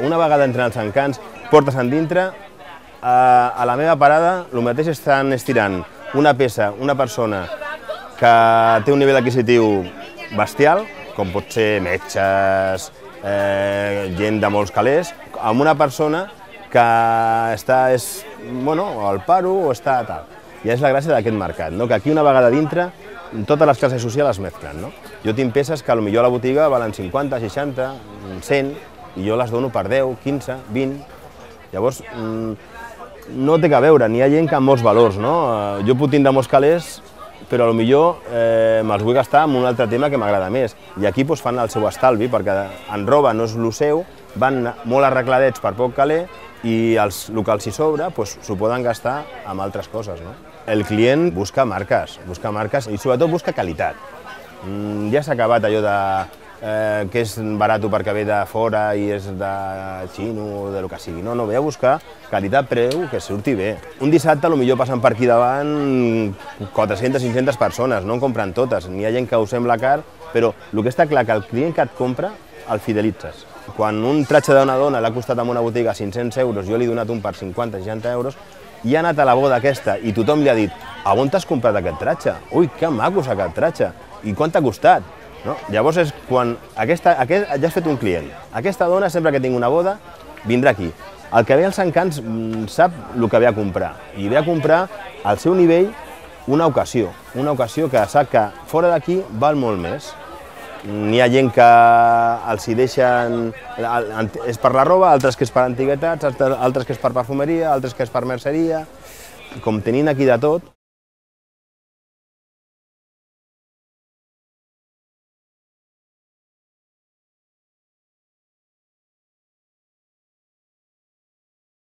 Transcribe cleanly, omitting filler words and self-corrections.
una vegada entren els encants, portes endintre, a la meva parada el mateix estan estirant una peça, una persona que té un nivell adquisitiu bestial, com pot ser metges, gent de molts calés, amb una persona que està al paro o està tal. I és la gràcia d'aquest mercat, que aquí una vegada dintre totes les classes socials es mesclen. Jo tinc peces que potser a la botiga valen 50, 60, 100, i jo les dono per 10, 15, 20. Llavors, no té que veure, n'hi ha gent que amb molts valors. Jo puc tindre molts calés, però potser me'ls vull gastar en un altre tema que m'agrada més. I aquí fan el seu estalvi, perquè en roba no és el seu, van molt arregladets per poc caler, i els locals si sobra s'ho poden gastar amb altres coses. El client busca marques i sobretot busca qualitat. Ja s'ha acabat allò que és barat perquè ve de fora i és de xino o del que sigui. No, ve a buscar qualitat-preu que surti bé. Un dissabte potser passen per aquí davant 400-500 persones, no en compren totes. N'hi ha gent que ho sembla car, però el que està clar que el client que et compra el fidelitzes. Quan un tratge d'una dona l'ha costat en una botiga 500 euros, jo li he donat un per 50-60 euros, i ha anat a la boda aquesta i tothom li ha dit «A on t'has comprat aquest tratge? Ui, que maco és aquest tratge! I quant t'ha costat?» Llavors és quan ja has fet un client. Aquesta dona, sempre que tingui una boda, vindrà aquí. El que ve als encants sap el que ve a comprar, i ve a comprar al seu nivell una ocasió que sap que fora d'aquí val molt més. N'hi ha gent que els hi deixen, és per la roba, altres que és per antiguitats, altres que és per perfumeria, altres que és per merceria, com tenint aquí de tot.